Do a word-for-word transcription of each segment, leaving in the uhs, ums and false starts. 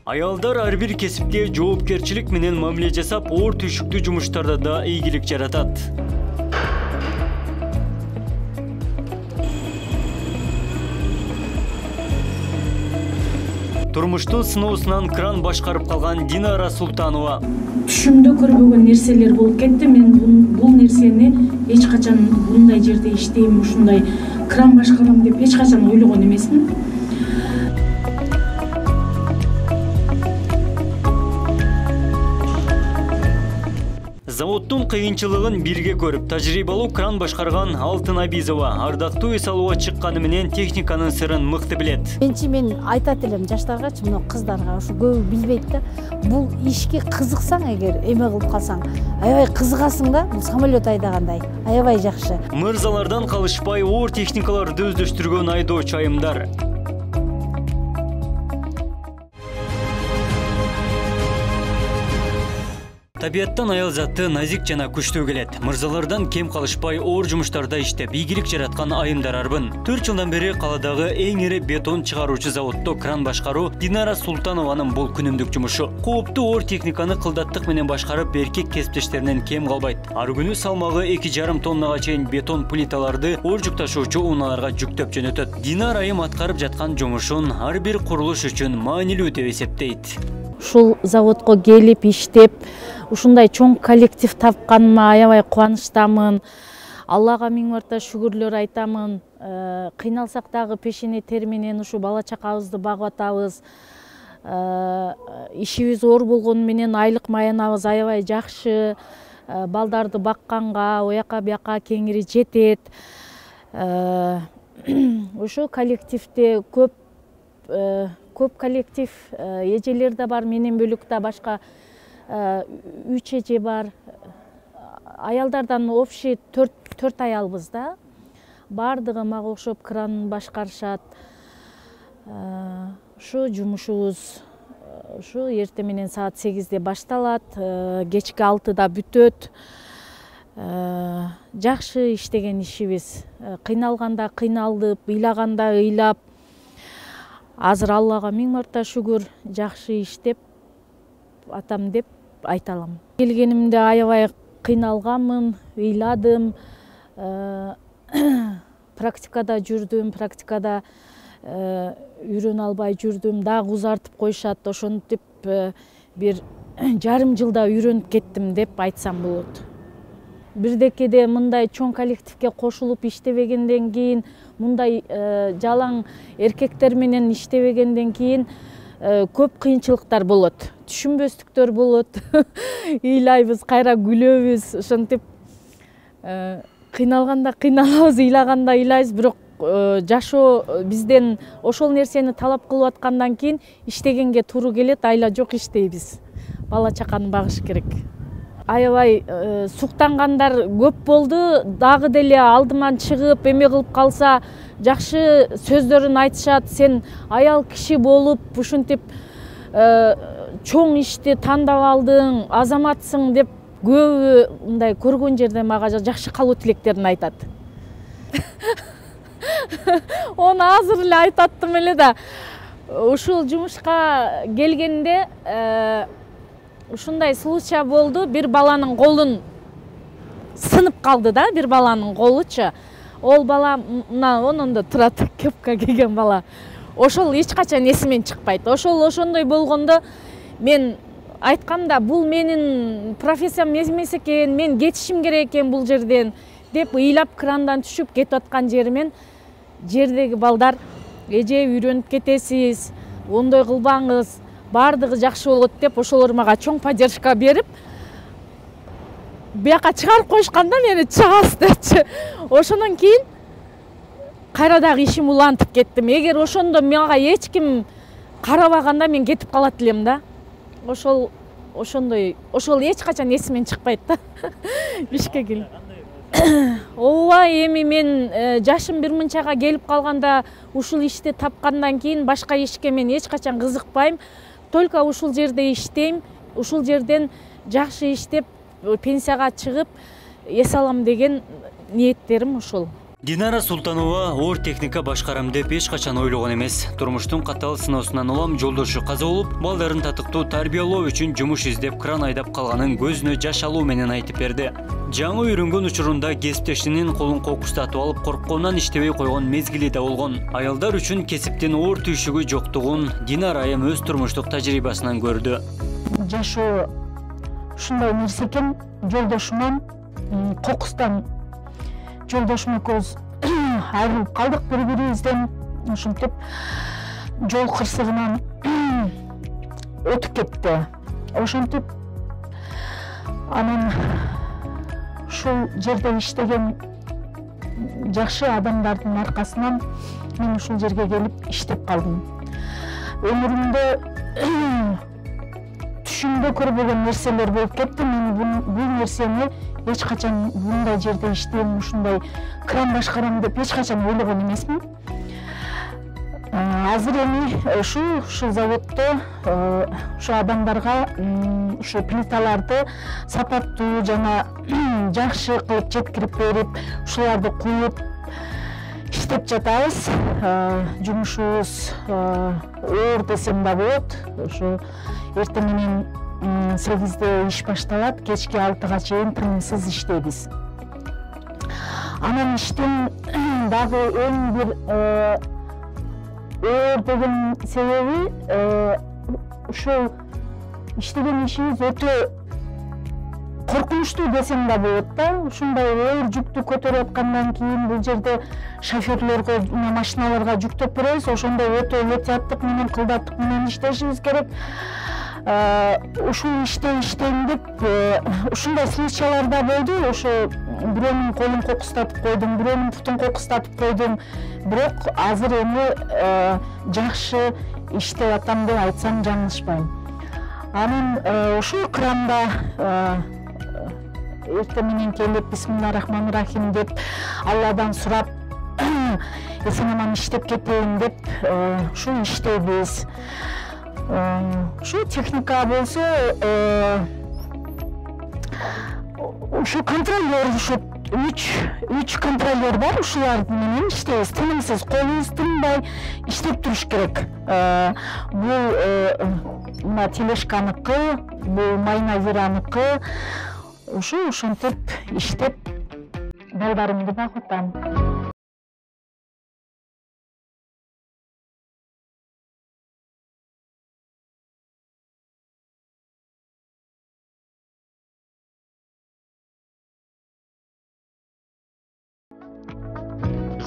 Аялдар ар бир кесипте жоопкерчилик менен мамиле жасап, оор түйшүктүү жумуштарда да ийгилик жаратат. Турмуштун сыноосунан кран башкарып калган Динара Султанова. Түшүмдө көрбөгөн нерселер болуп кетти. Мен бул нерсени эч качан мындай жерде иштейм, ушундай кран башкарам деп эч качан ойлогон эмесмин. Заводдун кыйынчылыгын бирге көрүп, тажрыйбалуу кран башкарган Алтын Абизова ардактуу эс алууга чыкканы менен техниканын сырын мыкты билет. Менчи мен айтат элем жаштаргачы, мына кыздарга, ушу көбү билбейт да. Бул ишке кызыксаң, эгер эме кылып калсаң, аябай кызыгасың да, бул самолет айдагандай. Аябай жакшы. Мырзалардан калышпай оор техникаларды өздөштүргөн айдоочу айымдар. Табияттан аял заты назик жана күчтүү келет. Мырзалардан кем калышпай оор жумуштарда иштеп, ийгилик жараткан айымдар арбын. төрт жылдан бери каладагы эң ири бетон чыгаруучу заводдо кран башкаруу Динара Султанованын бул күнүмдүк жумушу. Кооптуу оор техниканы кылдаттык менен башкарып, эркек кесиптештеринен кем калбайт. Ар күнү салмагы эки жарым тоннага чейин бетон плиталарды оор жүк ташуучу унааларга жүктөп жөнөтөт. Динара айым аткарып жаткан жумушун ар бир курулуш үчүн маанилүү деп эсептейт. Ушул заводко келип иштеп, ушундай чоң коллектив тапканыма аябай кубанычтамын. Аллага миң марта шүгүрлөр айтамын. Кыйналсак дагы пешене тер менен ушу бала чакабызды багып атабыз. Ишибиз оор болгону менен айлык маянабыз аябай жакшы. Балдарды бакканга, ояка бияка кеңири жетет. Ушу коллективде көп көп коллектив, эжелер да бар, менен бөлүк да башка үч эже бар. Аялдардан общий төрт аялбыз да. Бардыгы мага окшоп кран башкарышат. Ушу жумушубуз ушу эртең менен саат сегизде башталат, кечки алтыда бүтөт. Жакшы иштеген ишибиз. Кыйналганда кыйналдып, ыйлаганда ыйлап. Азыр Аллага миң марта шүгүр, жакшы иштеп атам деп айта алам. Келгенимде аябай кыйналганмын, ыйладым. Практикада жүрдүм, практикада үйрөнө албай жүрдүм, дагы узартып коюшат. Ошентип бир жарым жылда үйрөнүп кеттим деп айтсам болот. Бирдекеде мындай чоң коллективге кошулуп иштебегенден кийин, мындай жалаң эркектер менен иштебегенден кийин көп кыйынчылыктар болот. Түшүнбөстүктөр болот. Ыйлайбыз, кайра күлөбүз. Ошентип кыйналганда кыйналабыз, ыйлаганда ыйлайбыз, бирок жашоо бизден ошол нерсени талап кылып аткандан кийин иштегенге туура келет, айла жок иштейбиз. Бала чаканы багыш керек. Аябай суктангандар көп болду. Дагы деле алдыман чыгып, эме кылып калса, жакшы сөздөрүн айтышат. Сен аял киши болуп, ушинтип чоң ишти тандап алдың, азаматсың деп көбү мындай көргөн жерде мага жакшы калуу тилектерин айтат. Оны азыр эле айтаттым эле да. Ушул жумушка келгенде ушундай случай болду. Бир баланын колун сынып калды да, бир баланын колучу. Ол бала мына онунда турат, кепка кийген бала. Ошол эч качан эсимен чыкпайт. Ошол ошондой болгондо мен айткам да, бул менин профессиям эмес экен, мен кетишим керек экен бул жерден деп ыйлап крандан түшүп кетип аткан жеримен жердеги балдар: эже үйрөнүп кетесиз, ондой кылбаңыз, бардыгы жакшы болот деп ошолор мага чоң поддержка берип, бияка чыгарып коюшканда мени чыгасыз депчи. Ошондон кийин кайра дагы ишим улантып кеттим. Эгер ошондо мага эч ким карабаганда мен кетип калат элем да. Ошол ошондой, ошол эч качан эсимен чыкпайт да. Ишке кел. Ооба, эми мен жашым бир мынчага келип калганда, ушул ишти тапкандан кийин башка ишке мен эч качан кызыкпайм. Только ушул жерде иштейм, ушул жерден жакшы иштеп, пенсияга чыгып, эс алам деген ниеттерим ушул. Динара Султанова оор техника башкарам деп эч качан ойлогон эмес. Турмуштун катал сыноосунан улам жолдошу каза болуп, балдарын татыктуу тарбиялоо үчүн жумуш издеп кран айдап калганын көзүнө жаш алуу менен айтып берди. Жаңы үйрөнгөн учурунда кесиптешинин колун кокустатып алып коркконунан иштебей койгон мезгили да болгон. Аялдар үчүн кесиптин оор түйшүгү жоктугун Динара айым өз турмуштук тажрыйбасынан көрдү. Жашоо ушундай нерсе экен, жолдошуман кокустан жолдошум экөөбүз айрылып калдык бири-бирибизден. Ушинтип жол кырсыгынан өтүп кетти. Ошентип анан ушул жерде иштеген жакшы адамдардын аркасынан мен ушул жерге келип иштеп калдым. Өмүрүмдө түшүмдө көрбөгөн нерселер болуп кетти. Мен бул нерсени эч качан мындай жерде иштейм, ушундай кран башкарам деп эч качан ойлогон эмесмин. Азыр эми ушул ушул заводдо ушу адамдарга ушу плиталарды сапаттуу жана жакшы кылып жеткирип берип, ушуларды куюп иштеп жатабыз. Жумушубуз оор десем да болот. Ушу эртең менен сегизде иш башталат, кечки алтыга чейин тынымсыз иштейбиз. Анан иштин дагы эң бир оор деген себеби ушул иштеген ишибиз өтө коркунучтуу десем да болот да. Ушундай оор жүктү көтөрүп аткандан кийин бул жерде шоферлорго, машиналарга жүктөп беребиз. Ошондой өтө этияттык менен, кылдаттык менен иштешибиз керек. Ушул иште иштейм деп ушундай случайлар да болду. Ошо бирөөнүн колун кокустатып койдум, бирөөнүн бутун кокустатып койдум. Бирок азыр эми жакшы иштеп атам деп айтсам жаңылышпайм. Анан ушул кранда эртең менен келип бисмиллахи-рахмани-рахим деп Алладан сурап эсен аман иштеп кетейин деп ушул иштейбиз. Ушу техника болсо ушу контролер, ушу үч үч контролер бар, ушулар менен иштейбиз. Тынымсыз, колубуз тынбай иштеп туруш керек. Бул мына телешканыкы, бул майнавираныкы. Ушу ушинтип иштеп балдарымды багытам.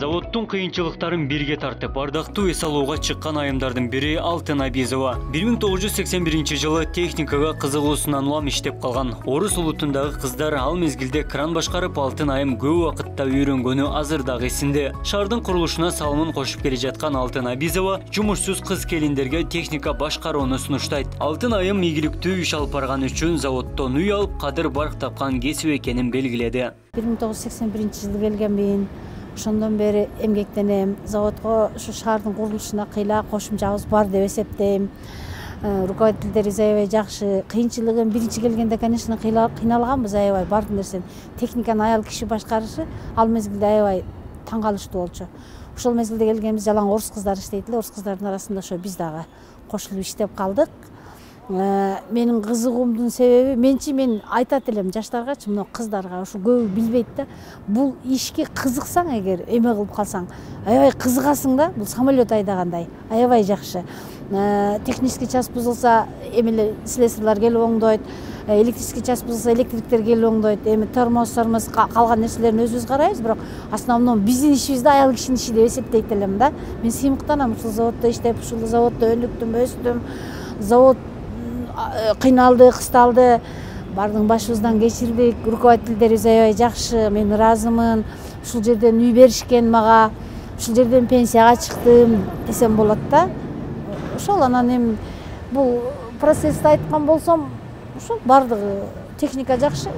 Заводдун кыйынчылыктарын бирге тартып, ардактуу эс алууга чыккан айымдардын бири Алтын Абизова. бир миң тогуз жүз сексен биринчи жылы техникага кызыгуусунан улам иштеп калган. Орус улутундагы кыздар ал мезгилде кран башкарып, Алтын айым көп убакытта үйрөнгөнү азыр дагы эсинде. Шаардын курулушуна салымын кошуп келе жаткан Алтын Абизова жумушсуз кыз келиндерге техника башкарууну сунуштайт. Алтын айым ийгиликтүү иш алып барган үчүн заводдон үй алып, кадыр барк тапкан кесип экенин белгиледи. бир миң тогуз жүз сексен биринчи жылы келгенмин. Ошондон бери эмгектенем. Заводго ушу шаардын курулушуна кыйла кошумчабыз бар деп эсептейм. Руководителдерибиз аябай жакшы. Кыйынчылыгын биринчи келгенде, конечно, кыйналганбыз аябай. Бардын нерсени техниканы аял киши башкарышы ал мезгилде аябай таң калыштуу болчу. Ошол мезгилде келгенбиз, жалаң орус кыздар иштейт эле. Орус кыздардын арасында ошо биз дагы кошулуп иштеп калдык. Менин кызыгуумдун себеби, менчи мен айтат элем жаштаргачы, мына кыздарга, ушу көбү билбейт да. Бул ишке кызыксаң, эгер эме кылып калсаң, аябай кызыгасың да. Бул самолет айдагандай, аябай жакшы. Технический час бузулса, эмелер слесарьлар келип оңдойт. Электрический час бузулса, электриктер келип оңдойт. Эми тормоз, тормоз калган нерселерин өзүбүз карайбыз, бирок основном биздин ишибизди аял кишинин иши деп эсептейт элем да. Мен сыймыктанам ушул заводдо иштеп, ушул заводдо өнүктүм, өстүм. Завод кыйналды, кысталды, бардын башыбыздан кечирдик. Руководителдерибиз аябай жакшы, мен ыраазымын. Ушул жерден үй беришкен мага, ушул жерден пенсияга чыктым десем болот да. Ошол анан эми бул процессти айткан болсом, ушул бардыгы техника жакшы.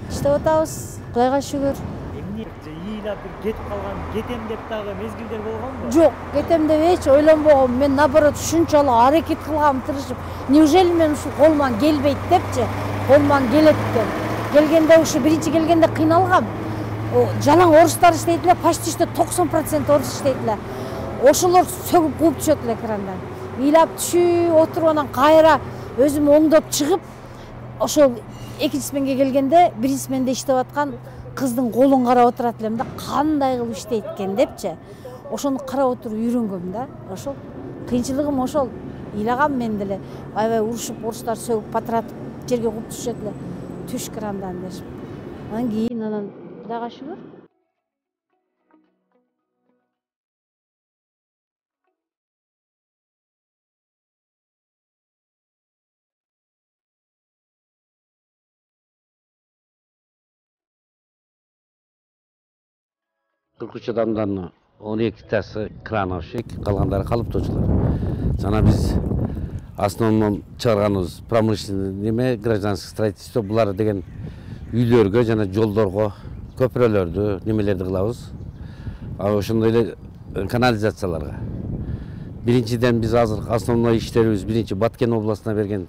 Иштеп атабыз, Кудайга шүгүр. Эмне ыйлап кетип калган, кетем деп дагы мезгилдер болгонбу? Жок, кетем деп эч ойлонбогом. Мен наоборот ушунчалык аракет кылгам, тырышып. Неужели мен ушул колуман келбейт депчи, колуман келет экен. Келгенде ушу биринчи келгенде кыйналгам. жалаң орустар иштейт эле, почти что токсон процент орус иштейт эле. Ошолор сөгүп кууп түшөт эле крандан. Ыйлап түшүп отуруп анан кайра өзүм оңдоп чыгып, ошол экинчи сменге келгенде биринчи сменде иштеп аткан кыздын колун карап отурат элем да, кандай кылып иштейт экен депчи. Ошону карап отуруп үйрөнгөм да. Ошол кыйынчылыгым ошол. Ыйлагам мен деле аябай урушуп, орустар сөгүп патыратып жерге кууп түшөт эле. Түш крандан дешип. Анан кийин анан Кудайга шүгүр. кырк үч адамдан он экитасы крановщик, калгандары калыптоочулар. Жана биз основном чыгарганыбыз промышленный неме, гражданский строительство, булар деген үйлөргө жана жолдорго көпүрөлөрдү, немелерди кылабыз. А ошондой эле канализацияларга. Биринчиден биз азыр основной иштерибиз биринчи Баткен областына берген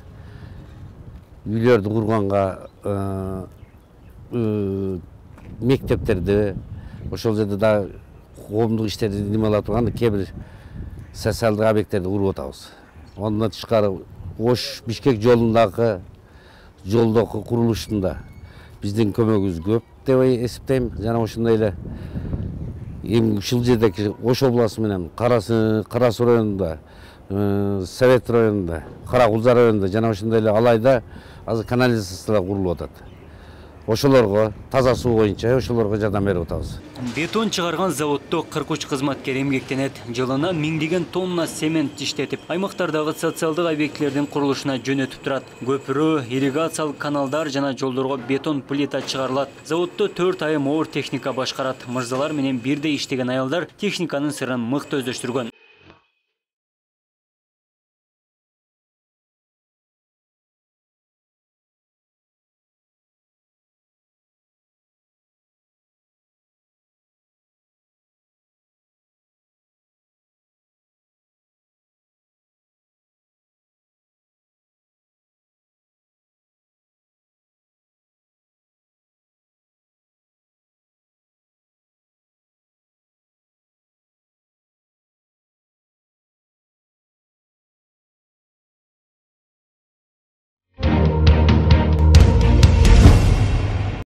үйлөрдү курганга, мектептерди, ошол жерде да коомдук иштерди немелеп турган кээ бир социалдык объекттерди куруп атабыз. Ондан тышкары Ош Бишкек жолундагы жолдогу курулушунда биздин көмөгүбүз көп деп эсептейм. Жана ошондой эле эми ушул жердеки Ош областы менен Кара суу районунда, Совет районунда, Кара Кулза районунда жана ошондой эле Алайда азыр канализациялар курулуп атат. Ошолорго таза суу боюнча ошолорго жардам берип атабыз. Бетон чыгарган заводдо кырк үч кызматкер эмгектенет. Жылына миңдеген тонна цемент иштетип, аймактардагы социалдык объектилердин курулушуна жөнөтүп турат. Көпүрө, ирригациялык каналдар жана жолдорго бетон плита чыгарылат. Заводдо төрт айым оор техника башкарат. Мырзалар менен бирдей иштеген аялдар техниканын сырын мыкты өздөштүргөн.